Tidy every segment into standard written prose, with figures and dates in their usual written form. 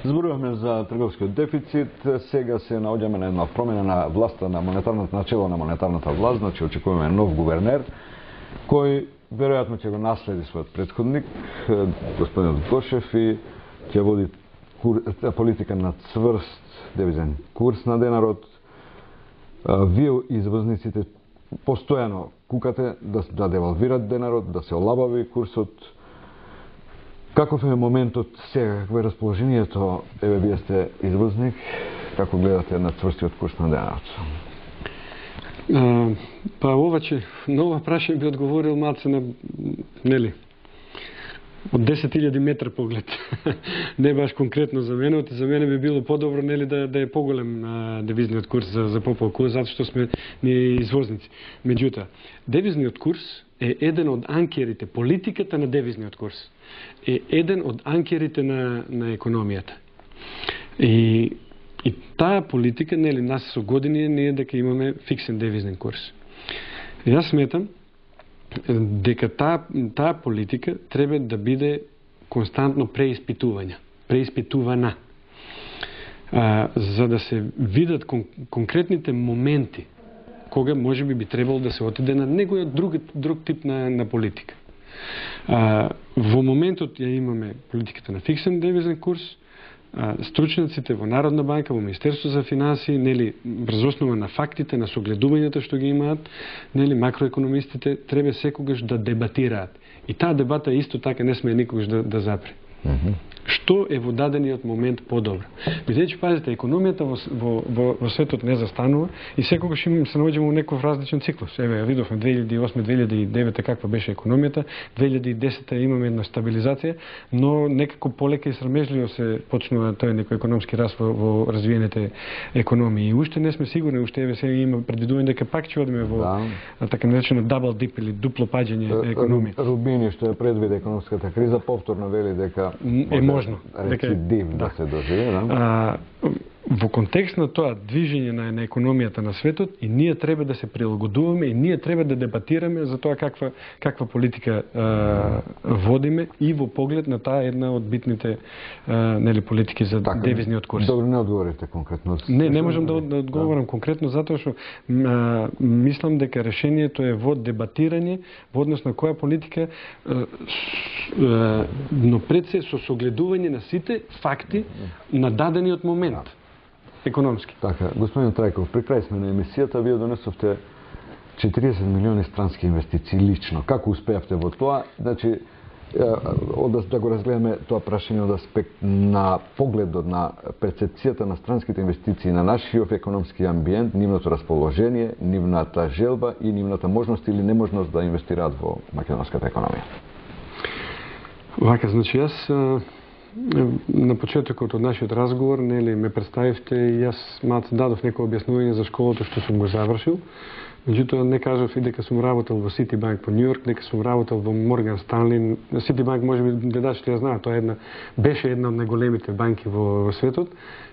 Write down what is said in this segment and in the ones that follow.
Зборуваме за трговскиот дефицит, сега се наоѓаме на една промена на власта на монетарната начело на монетарната власт, значи очекуваме нов гувернер кој веројатно ќе го наследи својот претходник, господинот Гошев, и ќе води политика на цврст девизен курс на денарот. Вие извозниците постојано кукате да девалвират денарот, да се олабави курсот. Каков е моментот сега, какво е расположението? Еве, вие сте извозник, како гледате на цврстиот курс на денарот? Па ова че на ова прашање би одговорил малце на, нели, од 10.000 метра поглед. Не баш конкретно за мене, за мене би било подобро, нели, да е поголем девизниот курс за пополку, затоа што сме ние извозници. Меѓутоа, девизниот курс е еден од анкерите, политиката на девизниот курс е еден од анкерите на економијата. И таа политика, нели, нас со години ние дека имаме фиксен девизен курс. И јас сметам дека таа политика треба да биде константно преиспитувана, за да се видат конкретните моменти кога може би требало да се отиде на некој друг тип на политика. Во моментот ја имаме политиката на фиксен девизен курс. Стручниците во Народна банка, во Министерство за финансии, нели, врз основа на фактите, на согледувањата што ги имаат, нели, макроекономистите треба секогаш да дебатираат. И таа дебата исто така не сме никогаш да запре. Што е во дадениот момент подобро? Бидејќи, пазите, економијата во светот не застанува и секогаш се наоѓаме во некој различен циклус. Еве, ја видовме 2008-2009 каква беше економијата, 2010 имаме една стабилизација, но некако полека и срамежливо се почнува тој некој економски раст во развиените економии. И уште не сме сигурни, уште еве сега има предвидување дека пак ќе одиме во така наречено double dip или дупло паѓање економија. Рубини, што ја предвиде економската криза, повторно вели дека е можно рецидив да се доживе, во контекст на тоа движење на економијата на светот, и ние треба да се прилагодуваме, и ние треба да дебатираме за тоа каква политика водиме и во поглед на таа една од битните нели политики за девизниот курс. Добро, не одговорите конкретно. Не можам да одговорам конкретно затоа што мислам дека решението е во дебатирање во однос на која политика, но пред се со согледување на сите факти на дадениот момент. Економски. Така, господин Трајков, при крај сме на емисијата, вие донесовте 40 милиони странски инвестиции лично. Како успеавте во тоа? Значи, да го разгледаме тоа прашање од аспект на погледот на перцепцијата на странските инвестиции на нашиот економски амбиент, нивното расположение, нивната желба и нивната можност или неможност да инвестираат во македонската економија. Вака, значи, јас на почетокот од нашиот разговор, нели, ме представивте и јас малце дадов некој објаснување за школото што сум го завршил. Меѓутоа не кажав и дека сум работел во Citibank во Њујорк, дека сум работел во Morgan Stanley. Citibank можеби гледачите ја знаат, тоа беше една од најголемите банки во светот,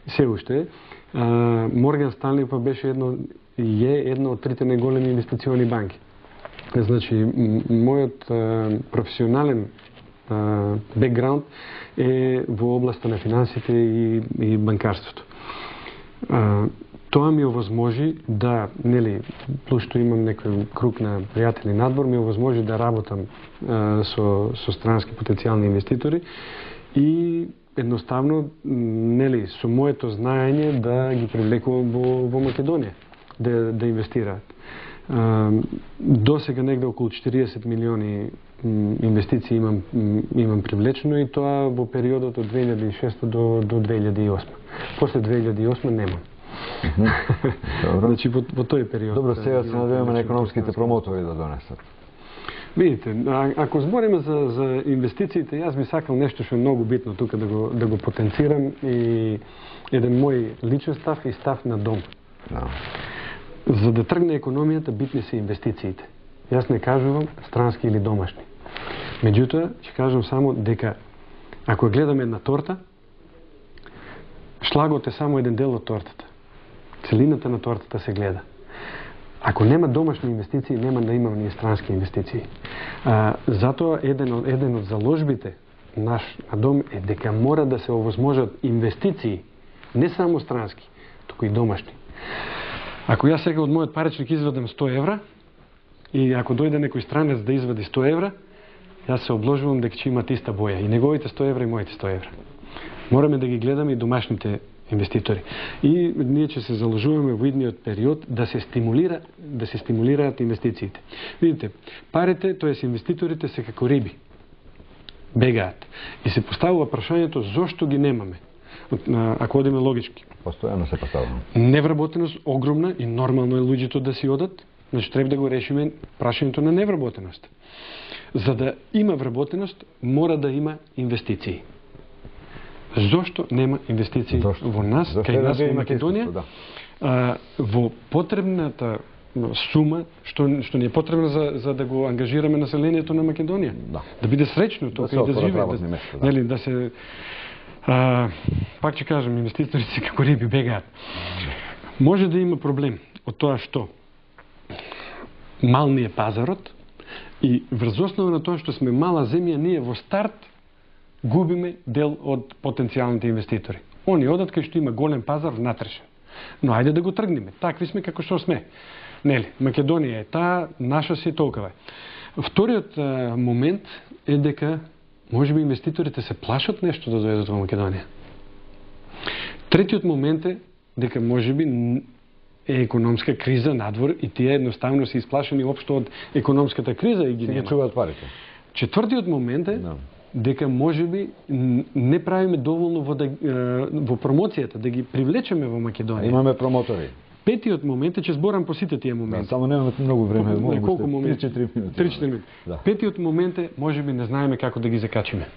и се уште е. Morgan Stanley па беше една од трите најголеми инвестициони банки. Значи, мојот професионален бекграунд е во областа на финансите и банкарството. Тоа ми овозможи да, нели, плюс што имам некој круг на пријатели надвор, ми овозможи да работам со странски потенцијални инвеститори и едноставно, нели, со моето знаење да ги привлекувам во Македонија да инвестираат. До сега негде околу 40 милиони инвестиции имам привлечено, и тоа во периодот од 2006 до 2008. После 2008 немам. Значи во тој период. Добро, сега се надеваме на економските промотори да донесат. Видите, ако збориме за инвестициите, јас би сакал нешто што е многу битно тука да го потенцирам, и еден мој личен став и став на дом. За да тргне економијата, битни се инвестициите. Јас не кажувам странски или домашни. Меѓутоа, ќе кажам само дека ако гледаме една торта, шлагот е само еден дел од тортата. Целината на тортата се гледа. Ако нема домашни инвестиции, нема да имаме ни странски инвестиции. Затоа еден од заложбите наш на дом е дека мора да се овозможат инвестиции, не само странски, туку и домашни. Ако јас сега од мојот паричник извадам 100 евра, и ако дојде некој странец да извади 100 евра, јас се обложувам дека ќе имат иста боја. И неговите 100 евра и моите 100 евра. Мораме да ги гледаме и домашните инвеститори. И ние ќе се заложуваме во идниот период да се стимулираат инвестициите. Видите, парите, тоест инвеститорите се како риби. Бегаат. И се поставува прашањето зошто ги немаме. Ако одиме логички. Постојано се поставува. Невработеност огромна и нормално е луѓето да си одат. Значи треба да го решиме прашањето на невработеност. За да има вработеност, мора да има инвестиции. Зошто нема инвестиции во нас, кај нас во Македонија? Во потребната сума што ни е потребна за да го ангажираме населението на Македонија. Да биде среќно тука и да живее. Нели, да се пак ќе кажам, инвеститорите како риби бегаат. Може да има проблем од тоа што мал ни е пазарот и врз основа на тоа што сме мала земја, ние во старт губиме дел од потенцијалните инвеститори. Они одат кај што има голем пазар внатрешен. Но ајде да го тргнеме. Такви сме како што сме. Нели, Македонија е таа, наша си толкова. Вториот момент е дека можеби инвеститорите се плашат нешто да дојдат во Македонија. Третиот момент е дека можеби е економска криза надвор и тие едноставно се исплашени општо од економската криза и ги нема. Се чуваат парите. Четвртиот момент е дека можеби не правиме доволно во промоцијата, да ги привлечеме во Македонија. Имаме промотори. Петиот момент е, че зборам по сите тие моменти. Само немаме многу време. Колку моменти? 3-4 минути. 3-4 минути. Петиот момент е, можеби не знаеме како да ги закачиме.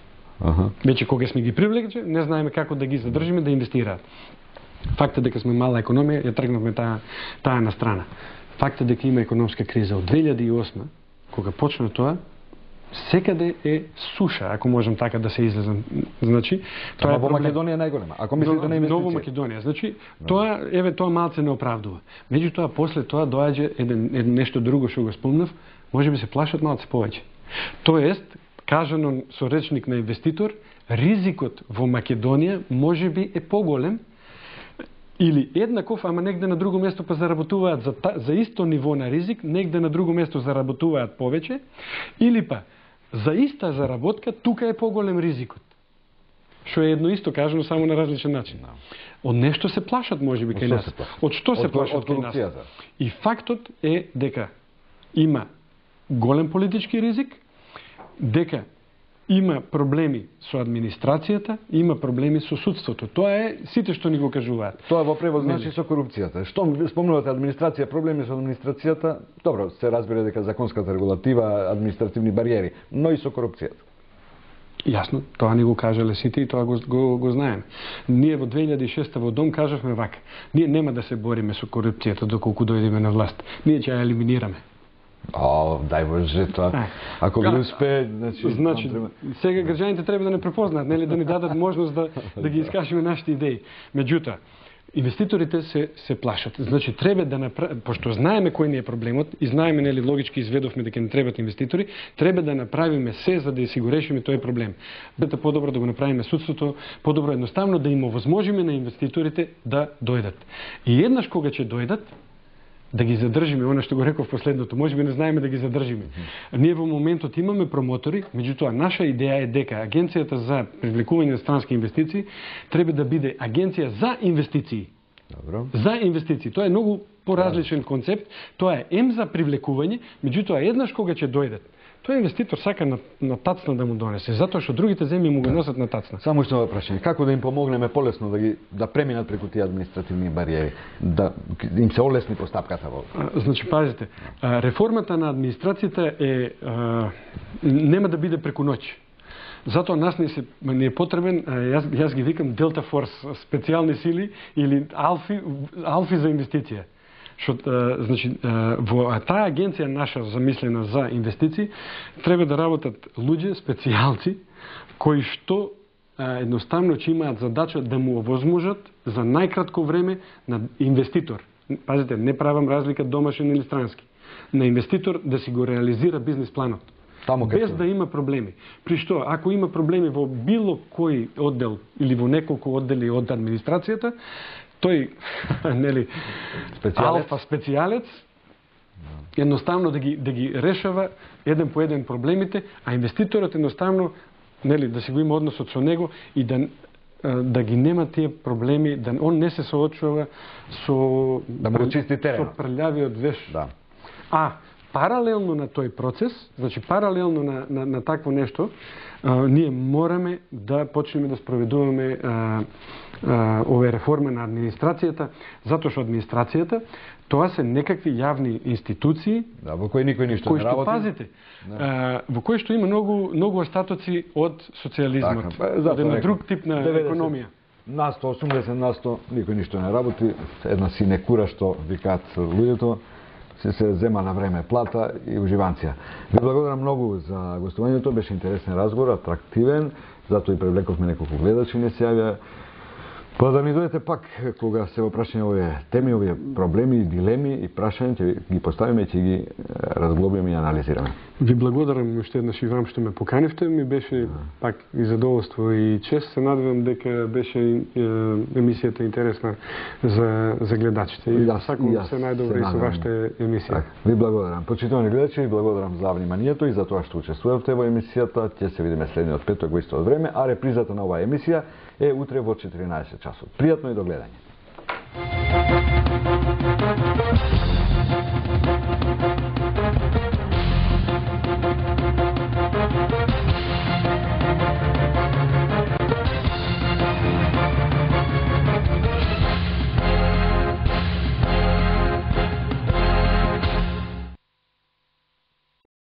Веќе кога сме ги привлекле, не знаеме како да ги задржиме да инвестираат. Фактот дека сме мала економија, ја тргнавме таа на страна. Фактот дека има економска криза од 2008, кога почна тоа, секаде е суша, ако можам така да се излезам. Значи, тоа е во Македонија најголема. Ако мислите на инвестиција. Во Македонија. Значи, тоа малце не оправдува. Меѓутоа после тоа доаѓа нешто друго што го спомнав, можеби се плашат малце повеќе. Тоест, кажано со речник на инвеститор, ризикот во Македонија можеби е поголем или еднаков, ама негде на друго место па заработуваат за исто ниво на ризик, негде на друго место заработуваат повеќе, или па за иста заработка тука е поголем ризикот. Што е едно исто кажано, само на различен начин. Од нешто се плашат можеби кај нас. Од што се плашат кај нас? И фактот е дека има голем политички ризик, дека има проблеми со администрацијата, има проблеми со судството. Тоа е сите што ни го кажуваат. Тоа во превод значи со корупцијата. Што спомнувате администрација, проблеми со администрацијата, добро, се разбира дека законската регулатива, административни бариери, но и со корупцијата. Јасно, тоа ни го кажале сите и тоа го знаеме. Ние во 2006 во Дом кажавме вака: ние нема да се бориме со корупцијата доколку дојдеме на власт. Ние ќе ја елиминираме. Дај Боже тоа. Ако ги успее, значи сега граѓаните треба да не препознаат, нели, да ни дадат можност да ги искажеме нашите идеи. Меѓутоа, инвеститорите се плашат. Значи треба да пошто знаеме кој ни е проблемот и знаеме, нели, логички изведовме дека не требаат инвеститори, треба да направиме се за да си го решиме тој проблем. Бета подобро да го направиме судството, подобро едноставно да им овозможиме на инвеститорите да дојдат. И еднаш кога ќе дојдат, да ги задржиме, она што го реков последното, можеби не знаеме да ги задржиме. Ние во моментот имаме промотори, меѓутоа наша идеја е дека агенцијата за привлекување на странски инвестиции треба да биде агенција за инвестиции. Добро. За инвестиции. Тоа е многу поразличен концепт. Тоа е за привлекување, меѓутоа еднаш кога ќе дојдат, тој инвеститор сака на тацна да му донесе, затоа што другите земји му го носат на тацна. Само што прашање, како да им помогнеме полесно да преминат преку тие административни бариери, да им се олесни постапката во? Значи, пазите, реформата на администрацијата нема да биде преку ноќ. Затоа нас не е потребен, јас ги викам Delta Force, специјални сили или алфи за инвестиција. Значи, во таа агенција наша замислена за инвестиции треба да работат луѓе, специјалци, кои што едноставно ќе имаат задача да му овозможат за најкратко време на инвеститор. Пазите, не правам разлика домашен или странски. На инвеститор да си го реализира бизнис планот. без да има проблеми. При што, ако има проблеми во било кој оддел или во неколку оддели од администрацијата, тој нели алфа специјалец едноставно да ги решава еден по еден проблемите, а инвеститорот едноставно нели да си го има односот со него и да ги нема тие проблеми, да он не се соочува со да му чисти теренот, со прљавиот веш. Да. А паралелно на тој процес, значи паралелно на такво нешто, ние мораме да почнеме да спроведуваме овие реформи на администрацијата, затоа што администрацијата тоа се некакви јавни институции, во кои никој ништо кои не работи. Пазите, во кои што има многу остатоци од социјализмот, од една друг тип на економија. 80% никој ништо не работи, една синекура што викаат луѓето, се зема на време плата и уживанција. Ви благодарам многу за гостувањето, беше интересен разговор, атрактивен, затоа и привлековме неколку гледачи не се јавија. Па да ни дојдете пак кога се во прашање овие теми, овие проблеми, дилеми и прашања, ќе ги поставиме и ќе ги разглобиме и анализираме. Ви благодарам уште еднаш и вам што ме поканивте, ми беше пак и задоволство и чест. Се надевам дека беше емисијата интересна за гледачите и сакам се најдобро и со вашата емисија. Ви благодарам. Почитувани гледачи, ви благодарам за вниманието и за тоа што учествувавте во емисијата. Ќе се видиме следниот петок во истото време, а репризата на оваа емисија е утре во 14 часот. Пријатно и до гледање.